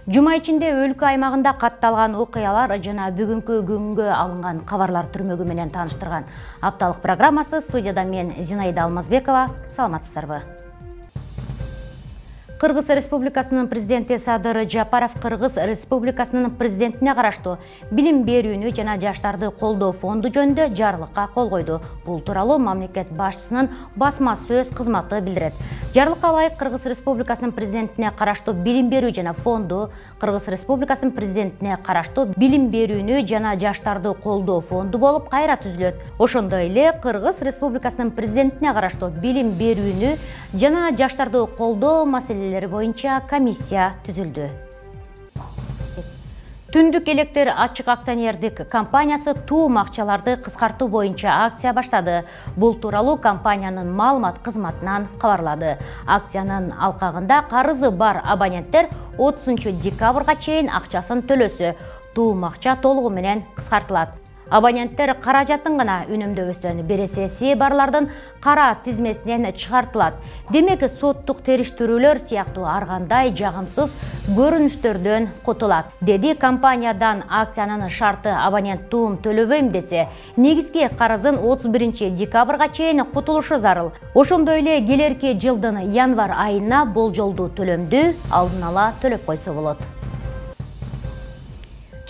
Жума ичинде өлкө аймагында катталган окуялар жана бүгүнкү күнгө алынган кабарлар түрмөгү менен тааныштырган апталык программасы. Студияда мен Зинаида Алмазбекова. Саламатсыздарбы? Кыргыз Республикасынын президенти Садыр Жапаров Кыргыз Республикасынын президентине караштуу билим берүүнү жана жаштарды колдоо фонду жөнүндө жарлыкка кол койду. Бул тууралуу мамлекет башчысынын басма сөз кызматы билдирет. Жарлыкка ылайык Кыргыз Республикасынын президентине караштуу билим берүү жана фонду, Кыргыз Республикасынын президентине караштуу билим берүүнү жана жаштарды колдоо фонду болуп кайра түзүлөт. Ошондой эле Кыргыз Республикасынын президентине караштуу билим берүүнү жана жаштарды колдоо маселелери боюнча комиссия түзүлдү. Түндүк электр ачык акционердик компаниясы туум акчаларды кыскартуу боюнча акция баштады. Бул тууралуу компаниянын маалымат кызматынан кабарлады. Акциянын алкагында карызы бар абоненттер 30 декабрга чейин акчасын төлөсө, туум акча толугу менен кыскартылат. Абоненттер каражатын гана үнөмдөбөстөн бересеси барлардын кара тизмесинен чыгартылат. Демек, соттук териштирүүлөр сыяктуу ар кандай жагымсыз көрүнүштөрдөн кутулат, деди компаниядан. Акциянын шарты абонент туум төлөбөйм десе, негизги карызын 31 декабрга чейин кутулушу зарыл. Ошондой эле келерки жылдын январь айына болжолдуу төлөмдү алдын ала төлөп койсо болот.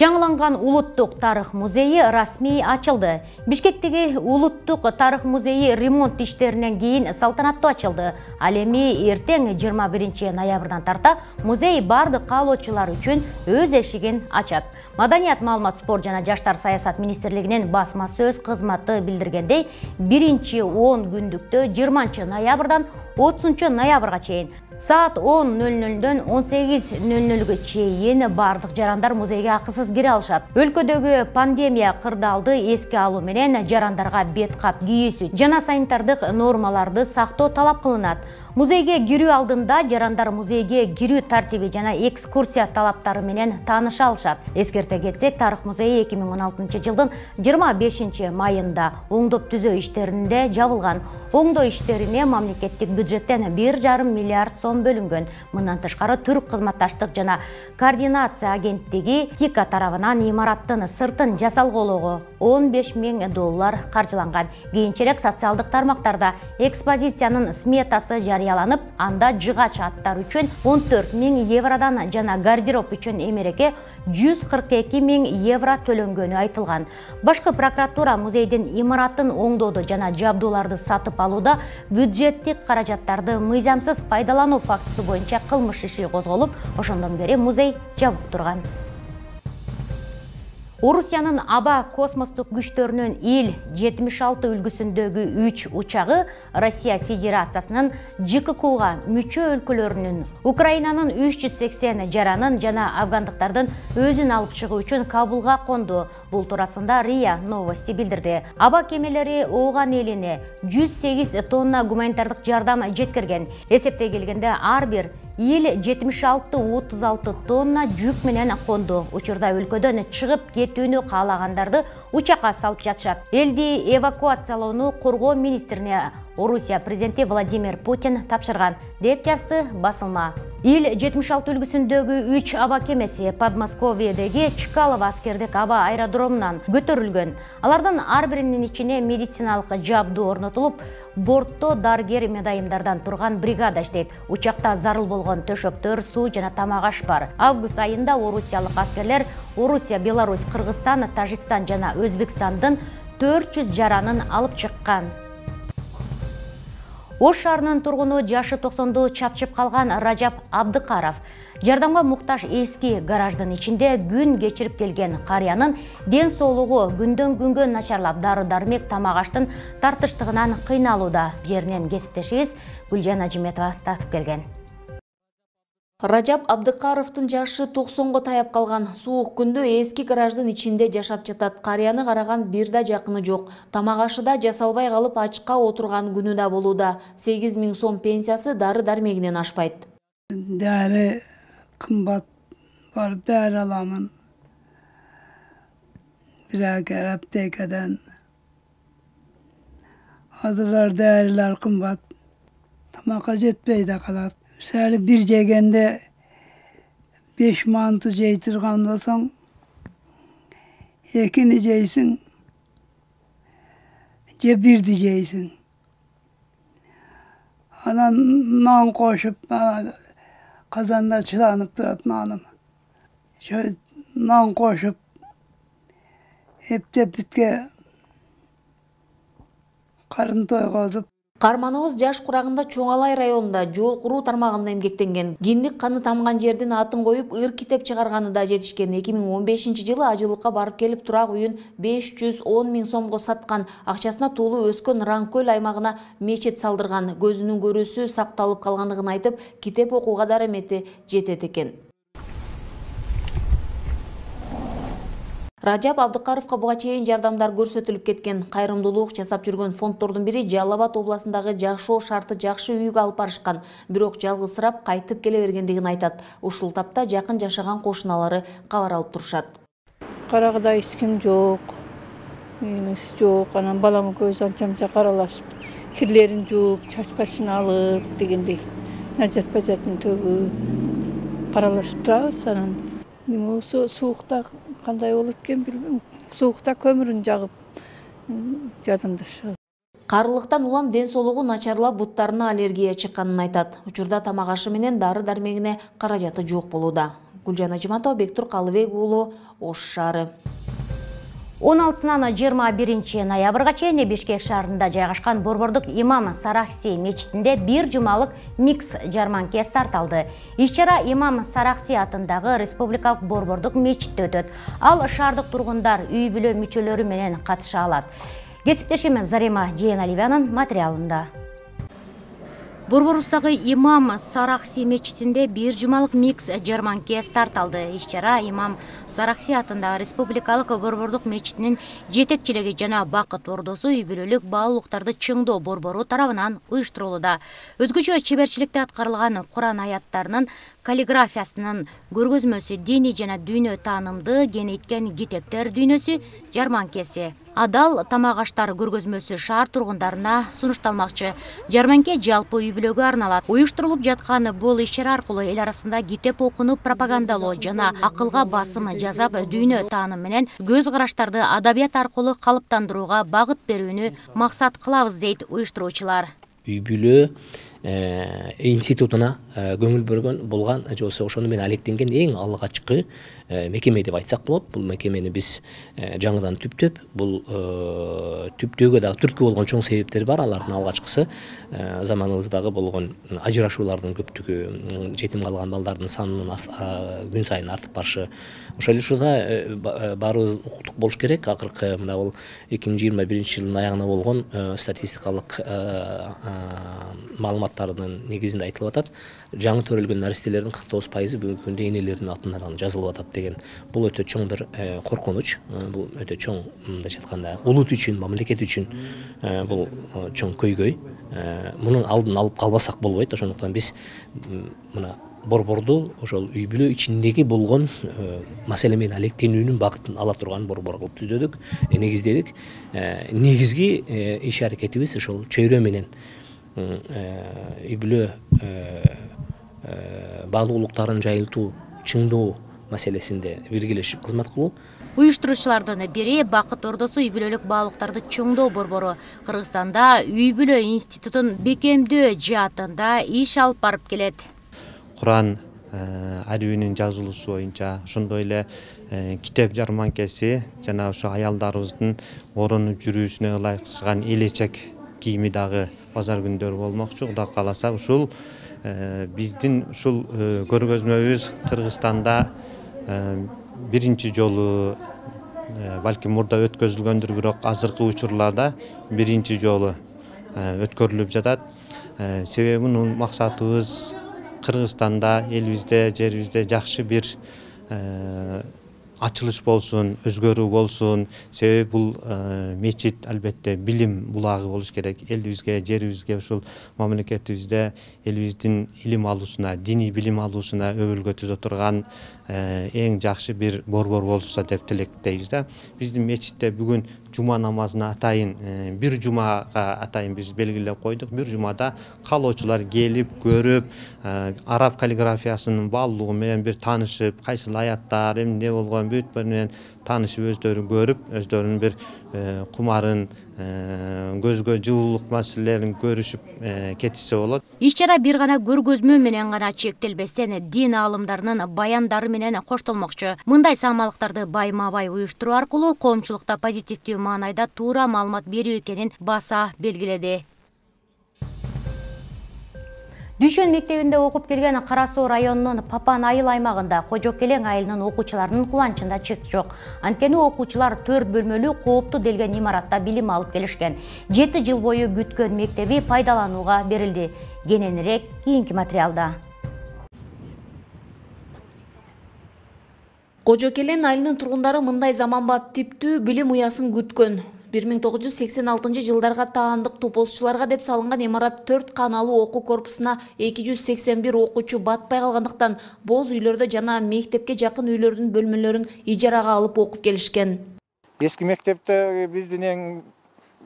Жаңыланган Улуттук тарых музейи расмий ачылды. Бишкектеги Улуттук тарых музейи ремонт иштеринен кийин салтанаттуу ачылды. Ал эми эртең 21 ноябрдан тарта музей бардык каалоочулар үчүн өз эшигин ачат. Маданият, маалымат, спорт жана жаштар саясат министрлигинин басма сөз кызматы билдиргендей, биринчи 10 күндүктө 20 ноябрдан 30 ноябрга чейин саат 10:00дөн 18:00га чейин бардык жарандар музейге акысыз кире алышат. Өлкөдөгү пандемия кырдаалды эске алуу менен жарандарга бет кап кийүүсү жана санитардык нормаларды сактоо талап кылынат. Музейге кирүү алдында жарандар музейге кирүү тартиби жана экскурсия талаптары менен тааныша алышат. Эскерте кетсек, тарых музейи 2016 жылдын 25 майында оңдоп түзөө иштеринде жабылган. Оңдоо иштерине мамлекеттик бюджеттен 1,5 миллиард сом бөлүнгөн. Мындан тышкары Түрк кызматташтык жана координация агенттиги ТИКа тарабынан имараттын сыртын жасалгоого $15,000 каржыланган. Кийинчерээк социалдык тармактарда экспозициянын сметасы жарыяланып, анда жыгач аттар үчүн €14,000 жана гардероб үчүн эмереке €142,000 төлөнгөнү айтылган. Башкы прокуратура музейдин имаратын оңдоодо жана жабдууларды сатып алууда бюджеттик каражаттарды мыйзамсыз пайдалануу фактысы боюнча кылмыш иши козголуп, ошондон бери музей жабык турган. Орусиянын аба космостук күчтөрүнүн Ил-76 үлгүсүндөгү 3 учагы Россия Федерациясынын ЖККга мүчө өлкөлөрүнүн Украинанын 380 жаранын жана афгандыктардын өзүн алып чыгуу үчүн Кабулга конду. Бул туурасында РИА Новости билдирди. Аба кемелери Ооган элине 108 тонна гуманитардык жардам жеткирген. Эсептей келгенде ар бир Ил-76 36 тонна жүк менен конду. Учурда өлкөдөн чыгып кетүүнү каалагандарды учакка салып жатышат. Элди эвакуациялоону коргоо министрине Орусия президенти Владимир Путин тапшырган, деп жазды басылма. Ил-76 үлгүсүндөгү 3 аба кемеси Подмосковьедеги Чкалово аскердик аба аэродромунан көтөрүлгөн. Алардын ар биринин ичине медициналык жабдуу орнотулуп, бортто дарыгер медайымдардан турган бригада иштейт. Учакта зарыл болгон төшөктөр, суу жана тамак аш бар. Август айында орусиялык аскерлер Орусия, Беларусь, Кыргызстан, Тажикстан жана Өзбекстандын 400 жаранын алып чыккан. Ош шаарынын тургуну жашы 90ду чапчып калган Ражап Абдыкаров жардамга муктаж эски гараждын ичинде күн кечирип келген карыянын ден соолугу күндөн күнгө начарлап, дары-дармек, тамак аштын тартыштыгынан кыйналууда. Жеринен кесиптешибиз Гүлжан Ажиметова тартып келген. Ражап Абдыкаровдун жашы 90го таяп калган. Суук күндө эски гараждын ичинде жашап жатат. Карыяны караган бир да жакыны жок. Тамак ашы да жасалбай калып, ачка отурган күнү да болууда. 8,000 сом пенсиясы дары-дармегинен ашпайт. Дары кымбат бар, дары аламын. Бирок аптекадан. Азырлар дәрилер кымбат. Тамакка жетпей да калат. Мисалы bir жегенде 5 manты жей турган болсоң, экини жейсиң, же бирди жейсиң. Анан нан кошуп, казанда чыланып турат наным. Şöyle nan koşup, eптеп bitke karın toygozуп. Карманыбыз Жаш Курагында Чоңалай районунда жол куруу тармагында эмгектенген. Киндик каны тамган жердин атын коюп, ыр китеп чыгарганы да жетишкен. 2015-жылы ажылыкка барып келип турак үйүн 510 000 сомго саткан. Акчасына туулуу Өскөн Ранкөл аймагына мечит салдырган. Көзүнүн көрүүсү сакталып калгандыгын айтып, китеп окууга да эмети жетет экен. Рajab Abdıqarovga буга чейин жардамдар көрсөтүлүп кеткен. Кайрымдуулук жасап жүргөн фонддордун бири Жалал Абад областындагы жакшоо шарты жакшы үйгө алып барышкан. Бирок жалгызсырап кайтып келе бергендигин айтат. Ушул тапта жакын жашаган кошуналары кабар алып турушат. Карагыда эч ким жок. Эмес жок. Анан балам көз анча-мынча каралашып, кирлерин жууп, чач башын алып дегендей. Нажат бажатын төгүп каралашып турабыз. Анан суукта кандай болот экен билбейм. Суукта көмүрүн жагып жардамдашабыз. Карылыктан улам ден соолугу начарлап, буттарына аллергия чыкканын айтат. Учурда тамак ашы менен дары-дармегине каражаты жок болууда. Гүлжан Ажыматова, Бектур Калыбек уулу, Ош шаары. 16-нан 21 ноябрга чейин Бишкек шаарында жайгашкан Борбордук Имам Сарахси мечитинде бир жумалык микс жарманке старт алды. Иш-чара Имам Сарахси атындагы Республикалык Борбордук мечитте өтөт. Ал шаардык тургундар үй-бүлө мүчөлөрү менен катыша алат. Кесиптешим Зарема Жейеналиеванын материалында. Борборубуздагы Имам Сарахси мечитинде бир жумалык микс жарманке старт алды. Иш-чара Имам Сарахси атындагы Республикалык Борбордук мечитинин жетекчилиги жана Бакыт Ордосу үй-бүлөлүк баалуулуктарды чыңдоо борбору тарабынан уюштурулууда. Өзгөчө чеберчиликте аткарылган Куран аяттарынын каллиграфиясынын көргөзмөсү, диний жана дүйнө таанымды кеңейткен китептер дүйнөсү жарманкеси. Адал тамак аштар көргөзмөсү шаар тургундарына сунушталмакчы. Жарманке жалпы үй-бүлөгө арналат. Уюштурулуп жаткан бул иш-чара аркылуу эл арасында китеп окууну пропагандалоо жана акылга басым жасап, дүйнө тааным менен көз караштарды адабият аркылуу калыптандырууга багыт берүүнү максат кылабыз, дейт уюштуруучулар. Үй-бүлө институтуна көңүл бөлгөн болгон, же болбосо ошону менен алектенген эң алгачкы мекеме деп айтсак болот. Бул мекемени биз жаңыдан түптөп, бул түптөөгө дагы түрткү болгон чоң себептер бар. Алардын алгачкысы заманыбыздагы болгон ажырашуулардын көптүгү, жетим калган балдардын санынын күн сайын артып барышы. Ошол эле учурда баарыбыз укуктук болуш керек. Акыркы мына бул 2021-жылдын аягына болгон статистикалык маалыматтардын негизинде айтылып атат. Жаңы төрөлгөн наристелердин 49% бүгүнкү күндө энелеринин атынан жазылып атат деген. Бул өтө чоң бир коркунуч. Бул өтө чоң, мындайча айтканда, улут үчүн, мамлекет үчүн бул чоң көйгөй. Мунун алдын алып калбасак болбойт. Ошондуктан биз мына борборду ошол үй-бүлө ичиндеги болгон маселе менен алектенүүнүн багытын ала турган борбор кылып түздөдүк, негиздедик. Негизги иш аракетибиз ошол чөйрө менен үй-бүлө баалуулуктарын жайылтуу, чыңдоо маселесинде биргелешип кызмат кылуу. Уюштуруучулардын бири Бакыт Ордосу үй-бүлөлүк баалуулуктарды чыңдоо борбору Кыргызстанда үй-бүлө институтун бекемдөө жаатында иш алып барып келет. Куран арбинин жазылуусу боюнча, ошондой эле китеп жарманкеси жана ошо аялдарыбыздын оронуп жүрүүсүнө ылайыкташкан элечек кийими дагы базар күндөрү болмокчу. Кудай кааласа ушул биздин ушул көргөзмөбүз Кыргызстанда биринчи жолу, балким мурда өткөзүлгөндүр, бирок азыркы учурларда биринчи жолу өткөрүлүп жатат. Себеби мунун максатыбыз Кыргызстанда, элибизде, жерибизде жакшы бир ачылыш болсун, өзгөрүү болсун. Себеби бул мечит албетте билим булагы болуш керек. Элибизге, жерибизге, ушул мамлекетибизде элибиздин илим алуусуна, диний билим алуусуна өбөлгө түзө турган эң жакшы бир борбор болушса деп тилектейбиз да. Биздин мечитте бүгүн жума намазына атайын бир жумага атайын биз белгилеп койдук. Бир жумада каалоочулар келип көрүп, араб каллиграфиясынын баалуулугу менен бир таанышып, кайсыл аяттар эмне болгон бүт менен таанышып, өздөрү көрүп, өздөрүнүн бир кумарын, көзгө жылуулук маселелерин көрүшүп кетишсе болот. Иш чара бир гана көргөзмө менен гана чектелбестен дин аалымдарынын баяндары менен коштолмокчу. Мындай саамалыктарды байма-бай уюштуруу аркылуу коомчулукта позитивдүү маанайда туура маалымат берүү экенин баса белгиледи. Дүшөн мектебинде окуп келген Кара Суу районунун Папан айыл аймагында Кожокелең айылынын окуучуларынын кубанычында чек жок. Анткени окуучулар 4 бөлмөлүү кооптуу делген имаратта билим алып келишкен. 7 жыл бою күткөн мектеби пайдаланууга берилди. Кененирээк кийинки материалда. Кожокелең айылынын тургундары мындай заманбап типтүү билим уясын күткөн. 1986 жылдарга таандык топозчуларга деп салынган имарат 4 каналуу окуу корпусуна 281 окуучу батпай калгандыктан боз үйлөрдө жана мектепке жакын үйлөрдүн бөлмөлөрүн ижарага алып окуп келишкен. Эски мектепте биздин эң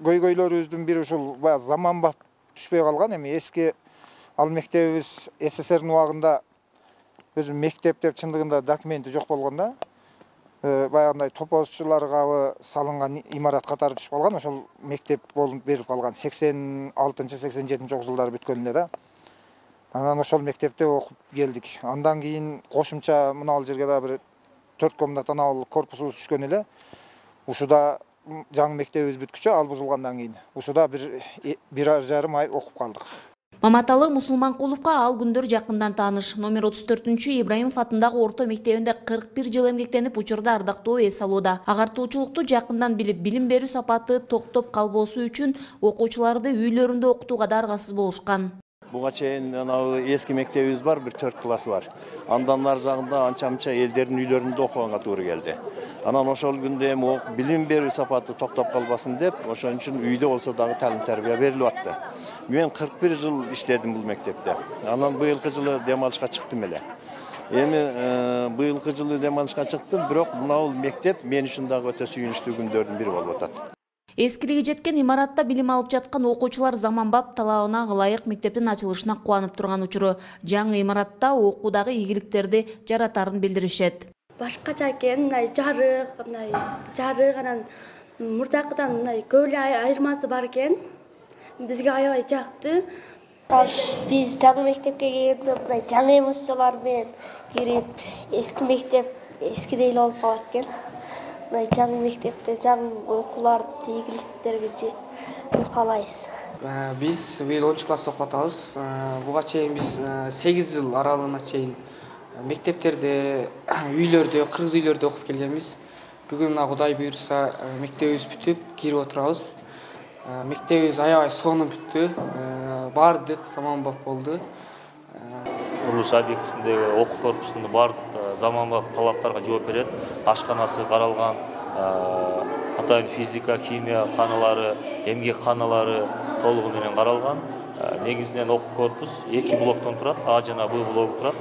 көйгөйлөрүбүздүн бири ушул заманбап түшпөй калган. Эми эски ал мектебибиз СССРдин убагында өзү мектеп деп чындыгында документи жок болгон да. Баягындай топозчуларга салынган имарат катары түшүп калган. Ошол мектеп болуп берип калган 86-87 жылдары бүткөн эле да. Анан ошол мектепте окуп келдик. Андан кийин кошумча мына ал жерге да бир 4 комнатаналуу корпусубуз түшкөн эле. Ушуда жаңы мектебибиз бүткүчө ал бузулгандан кийин ушуда бир жарым ай окуп калдык. Маматалы Мусулманкуловго ал күндөр жакындан тааныш. Номер 34 Ибраимов атындагы орто мектебинде 41 жыл эмгектенип, учурда ардактуу эс алууда. Агартуучулукту жакындан билип, билим берүү сапаты токтоп калбоосу үчүн окуучуларды үйлөрүндө окутууга да аргасыз болушкан. Буга чейин эски мектебибиз бар, бир 4 класс бар. Андан ар жагында анча-мынча элдердин үйлөрүндө окуганга туура келди. Анан ошол күндө эми билим берүү сапаты токтоп калбасын деп, ошон үчүн үйдө болсо дагы талим-тарбия берилип атты. Мен 41 жыл иштедим бул мектепте. Анан быйылкы жылы дем алышка чыктым эле. Эми быйылкы жылы дем алышка чыктым, бирок мына бул мектеп мен үчүн дагы өтө сүйүнүчтүү күндөрдүн бири болуп атат. Эскилиги жеткен имаратта билим алып жаткан окуучулар заманбап талабына ылайык мектептин ачылышына кубанып турган учуру. Жаңы имаратта окуудагы ийгиликтерди жаратарын билдиришет. Башкача экен, мындай жарык, анан мурдакыдан мындай көп эле айырмасы бар экен. Бизге аябай жакты. Биз жаңы мектепке келгенде мындай жаңы эмоциялар менен кирип, эски мектеп эскидей эле болуп калат экен. Мындай жаңы мектепте жаңы окууларды ийгиликтерге жетүүнү каалайбыз. Биз быйыл 10 класста окуп атабыз. Буга чейин биз 8 жыл аралыгына чейин мектептерде, үйлөрдө, кыргыз үйлөрдө окуп келгенбиз. Бүгүн мына Кудай буйрса мектебибиз бүтүп кирип отурабыз. Мектебибиз аябай сонун бүттү. Бардык заманбап болду. Курулуш объектисиндеги окуу корпусунун бардык заманбап талаптарга жооп берет. Ашканасы каралган, атайын физика, химия каналары, эмгек каналары толугу менен каралган. Негизинен окуу корпус 2 блоктон турат, А жана Б блогу турат.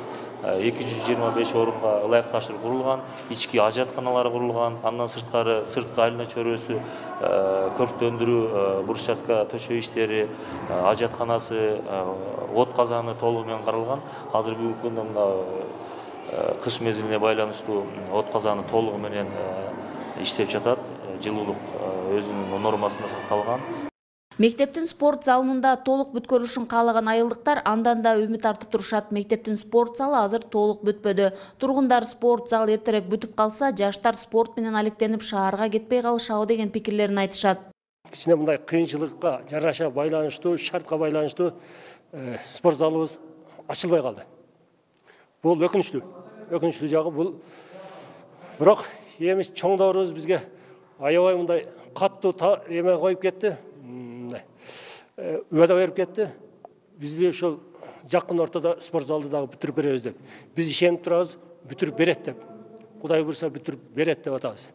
225 орунга ылайыкташып курулган, ички ажатканалар курулган, андан сырткары сырткы айлана чөйрөсү, көрктөндүрүү, брусчатка төшөө иштери, ажатканасы, от казаны толугу менен каралган. Азыр бүгүнкү күндө мына кыш мезгилине байланыштуу от казаны толугу менен иштеп жатат. Жылуулук өзүнүн нормасында сакталган. Мектептин спорт залында толук бүткөрүлүшүн каалаган айылдыктар андан да үмүт артып турушат. Мектептин спорт залы азыр толук бүтпөдү. Тургундар спорт зал эртерээк бүтүп калса, жаштар спорт менен алектенип шаарга кетпей калышабы деген пикирлерин айтышат. Кичине мындай кыйынчылыкка жараша байланыштуу, шартка байланыштуу спорт залыбыз ачылбай калды. Бул өкүнүчтүү жагы бул. Бирок эми чоңдорубуз бизге аябай мындай каттуу эме коюп кетти. Уада берип кетти. Бизди ошол жакын ортодо спорт залды дагы бүтүрүп беребиз деп. Биз ишенип турабыз, бүтүрүп берет деп. Кудай буйрса бүтүрүп берет деп атабыз.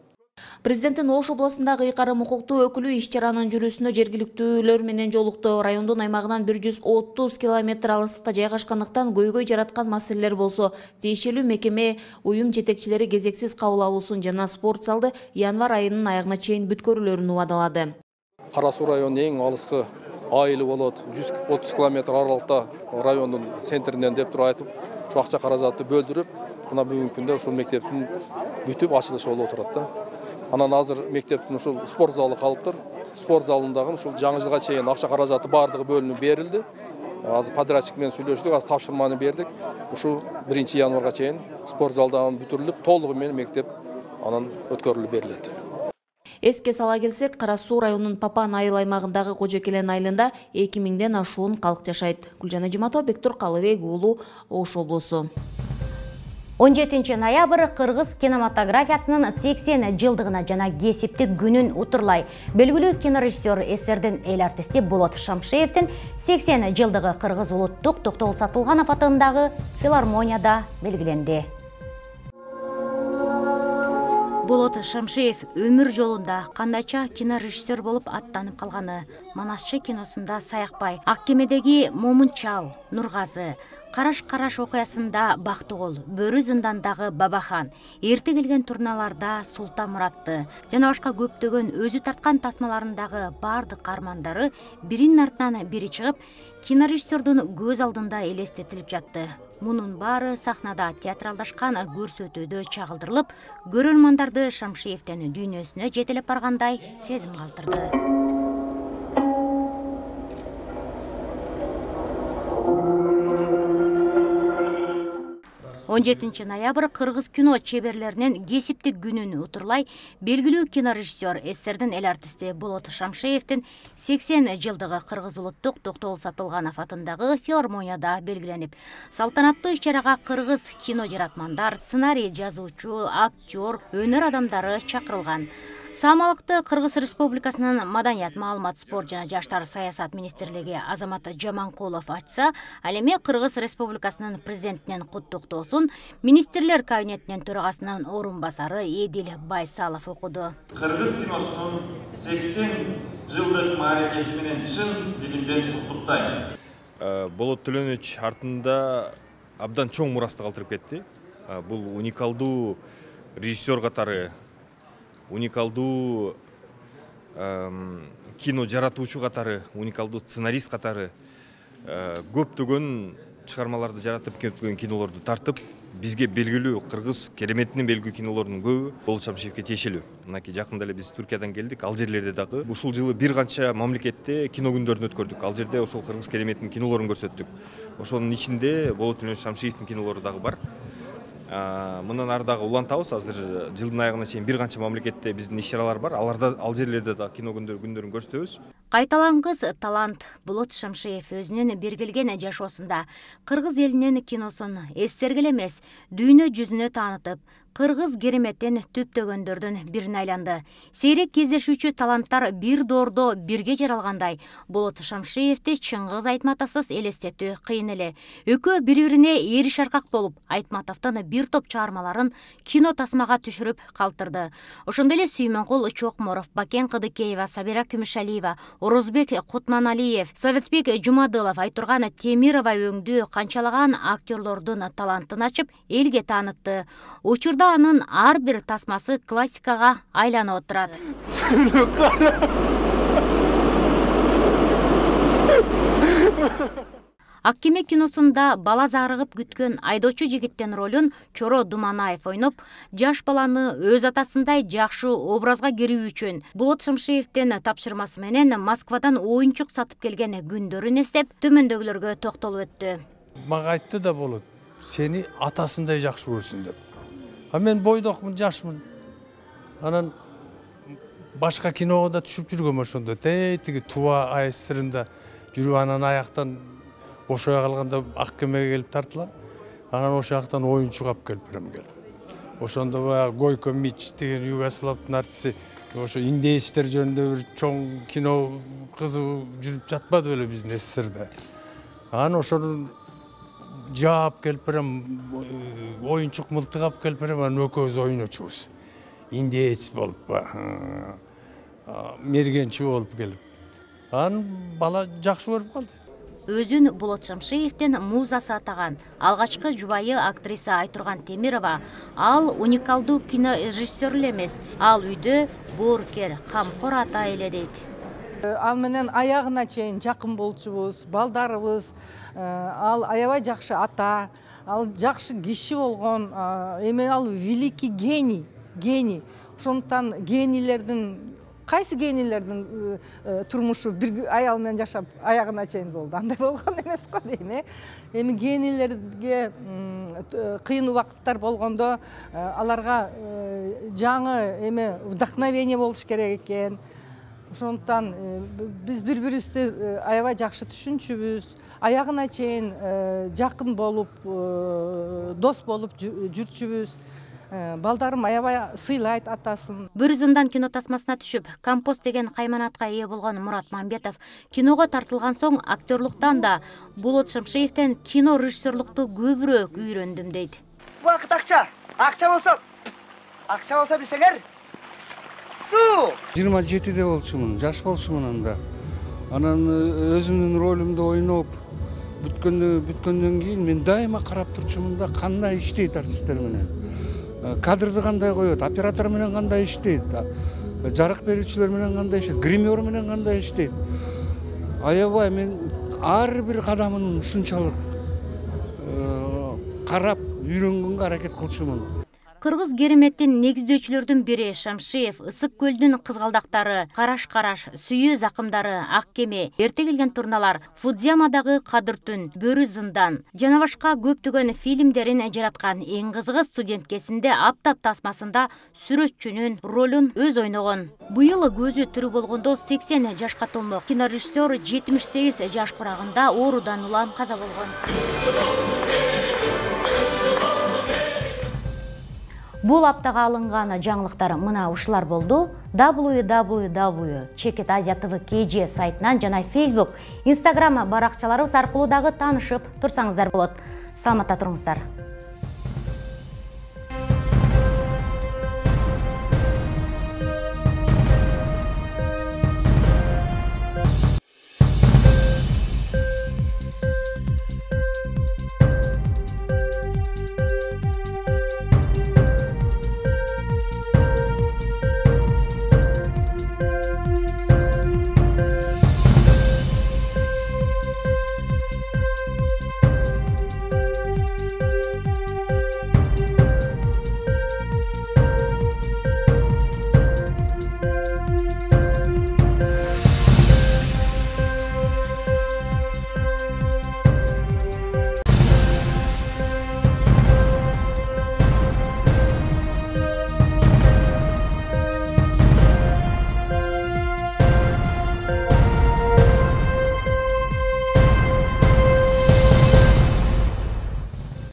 Президенттин Ош областындагы ыйкарым укуктуу өкүлү иш-чаранын жүрүүсүнө жергиликтүүлөр менен жолукту. Райондун аймагынан 130 километр алыстыкта жайгашкандыктан көйгөй жараткан маселелер болсо, тиешелүү мекеме уюм жетекчилери кезексиз кабыл алуусун жана спорт залды январь айынын аягына чейин бүткөрүүлөрүн убадалады. Кара Суу районунун эң алыскы айылы болот. 130 километр аралыкта райондун центринен деп туруп айтып, ушу акча каражатты бөлдүрүп, мына бүгүнкү күндө ушул мектептин бүтүп ачылышы болуп отурат да. Анан азыр мектептин ушул спорт залы калыптыр. Спорт залындагы ушул жаңы жылга чейин акча каражаты бардыгы бөлүнүп берилди. Азыр подрядчик менен сүйлөштүк, азыр тапшырманы бердик. Ушу 1 январга чейин спорт залдан бүтүрүлүп, толугу менен мектеп анан өткөрүлүп берилет. Эске сала келсек, Кара Суу районунун Папан айыл аймагындагы Кожокелен айылында 2000ден ашуун калк жашайт. Гүлжан Ажиматова, Бектур Калыбек уулу, Ош облусу. 17 ноябрь кыргыз кинематографиясынын 80 жылдыгына жана кесиптик күнүн утурлай белгилүү кинорежиссер эсердин эл артисти Болот Шамшиевдин 80 жылдыгы Кыргыз улуттук Токтогул Сатылганов атындагы филармонияда белгиленди. Болот Шамшиев өмүр жолунда кандайча кинорежиссер болуп аттанып калганы Манасчы киносунда Саякбай, Ак кемедеги Момунчал, Нургазы, Караш окуясында Бактыгул, Бөрү зындандагы Бабахан, Эрте келген турналарда Султан Муратты жана башка көптөгөн өзү тарткан тасмаларындагы бардык каармандары биринин артынан бири чыгып, кинорежиссердун көз алдында элестетилип жатты. Мунун баары сахнада театралдашкан көрсөтүүдө чагылдырылып, көрөрмандарды Шамшиевдин дүйнөсүнө жетелеп баргандай сезим калтырды. 17 ноябрь кыргыз кино чеберлеринин кесиптик күнүн утурлай белгилүү кинорежиссер эсердин эл артисти Болот Шамшиевдин 80 жылдыгы Кыргыз улуттук Токтогул Сатылганов атындагы филармонияда белгиленип, салтанаттуу иш-чарага кыргыз кино жаратмандар, сценарий жазуучу, актер, өнөр адамдары чакырылган. Самалыкты Кыргыз Республикасынын Маданият, маалымат, спорт жана жаштар саясат министрлиги Азамат Жаманкулов ачса, ал эми Кыргыз Республикасынын президентинин куттуктоосун министрлер кабинетинин төрагасынын орун басары Эдил Байсалов окуду. Кыргыз киносунун 80 жылдык мааракеси менен чын дилинден куттуктайм. Болот Төлөнөч артында абдан чоң мурасты калтырып кетти. Бул уникалдуу режиссер катары, уникалдуу кино жаратуучу катары, уникалдуу сценарист катары көптөгөн чыгармаларды жаратып кеткен кинолорду тартып, бизге белгилүү кыргыз кереметинин белгилүү кинолордун көбү Болот Шамшиевге тиешелүү. Мынакей жакында эле биз Түркиядан келдик, ал жерлерде дагы ушул жылы бир канча мамлекетте кино күндөрүн өткөрдүк. Ал жерде ошол кыргыз кереметинин кинолорун көрсөттүк. Ошонун ичинде Болот Шамшиевдин кинолору дагы бар. Мындан ары дагы улантабыз. Азыр жылдын аягына чейин бир канча мамлекетте биздин иш-чаралар бар. Аларда ал жерлерде да кино күндөрүн көрсөтөбүз. Кайталангыс талант Болот Шамшиев өзүнүн бергилген жашоосунда кыргыз элинин киносун эстергиле эмес, дүйнө жүзүнө таанытып, кыргыз кереметин түптөгөндөрдүн бирине айланды. Сейрек кездешүүчү таланттар бир доордо бирге жаралгандай, Болот Шамшиевди Чыңгыз Айтматовсуз элестетүү кыйын эле. Экөө бири-бирине эриш аркак болуп, Айтматовдун бир топ чыгармаларын кино тасмага түшүрүп калтырды. Ошондой эле Сүймөнкул Чокморов, Бакен Кыдыкеева, Сабира Күмүшалиева, Орозбек Кутманалиев, Советбек Жумадылов, Айтурган Темирова өңдүү канчалаган актерлордун талантын ачып, элге таанытты. Учурда анын ар бир тасмасы классикага айланып отурат. Ак кеме киносунда бала зарыгып күткөн айдоочу жигиттин ролун Чоро Думанаев ойноп, жаш баланы өз атасындай жакшы образга кирүү үчүн Болот Шамшиевдин тапшырмасы менен Москвадан оюнчук сатып келген күндөрүн эстеп, төмөндөгүлөргө токтолуп өттү. Мага айтты да болот, сени атасындай жакшы көрсүн деп. А мен бойдокмун, жашмын. Анан башка киного да түшүп жүргөм ошондо. Тиги Туба АССРында жүрүп, анан аяктан бошой калганда Ак кемеге келип тартылам. Анан ошол жактан оюнчук алып келип берем келип. Ошондо баягы Гойко Мич деген Югославдын артисти, ошо индеецтер жөнүндө бир чоң кино кызыгуу жүрүп жатпады беле биздин СССРде. Анан ошону жаап келип берем, оюнчук мылтык алып келип берем, анан экөөбүз ойночубуз. индеец болуп, мергенчи болуп келип, анан бала жакшы көрүп калды. Өзүн Болот Шамшиевдин музасы атаган алгачкы жубайы актриса Айтурган Темирова ал уникалдуу кинорежиссер эле эмес, ал үйдө боорукер, камкор ата эле дейт. Ал менен аягына чейин жакын болчубуз, балдарыбыз, ал аябай жакшы ата, ал жакшы киши болгон, эми ал великий гений. Ошондуктан генийлердин кайсы генийлердин турмушу бир аял менен жашап аягына чейин болду, андай болгон эмес го дейм. Эми генийлерге кыйын убакыттар болгондо аларга жаңы эми вдохновение болуш керек экен. Ошондуктан биз бири-бирибизди аябай жакшы түшүнчүбүз, аягына чейин жакын болуп, дос болуп жүрчүбүз. Балдарым аябай сыйлайт атасын. Бир зындан кино тасмасына түшүп, Компост деген кайманатка ээ болгон Мурат Мамбетов киного тартылган соң актерлуктан да Болот Шамшиевден кино режиссерлукту көбүрөөк үйрөндүм дейт. Убакыт акча болсо билсеңер, суу. 27-де болчумун, жаш болчумун анда. Анан өзүмдүн ролумду ойноп бүткөндөн кийин мен дайыма карап турчумун да, кандай иштейт артисттер менен. Кадрды кандай коет, оператор менен кандай иштейт, жарык берүүчүлөр менен кандай иштейт, гример менен кандай иштейт. Аябай мен ар бир кадамын ушунчалык карап үйрөнгөнгө аракет кылчумун. Кыргыз кереметтин негиздөөчүлөрдүн бири Шамшиев Ысык көлдүн кызгалдактары, Караш, Сүйүү закымдары, Ак кеме, Эрте келген турналар, Фудзиямадагы Кадыр түн, Бөрү зындан жана башка көптөгөн фильмдерин жараткан. Эң кызыгы студенткесинде Аптап тасмасында сүрөтчүнүн ролун өз ойногон. Быйыл көзү тирүү болгондо 80 жашка толмок. Кинорежиссер 78 жаш курагында оорудан улам каза болгон. Бул аптага алынган жаңылыктар мына ушулар болду. www.cheketasiatv.kg сайтынан жана Facebook, Instagram баракчаларыбыз аркылуу дагы таанышып турсаңыздар болот. Саламатта туруңуздар.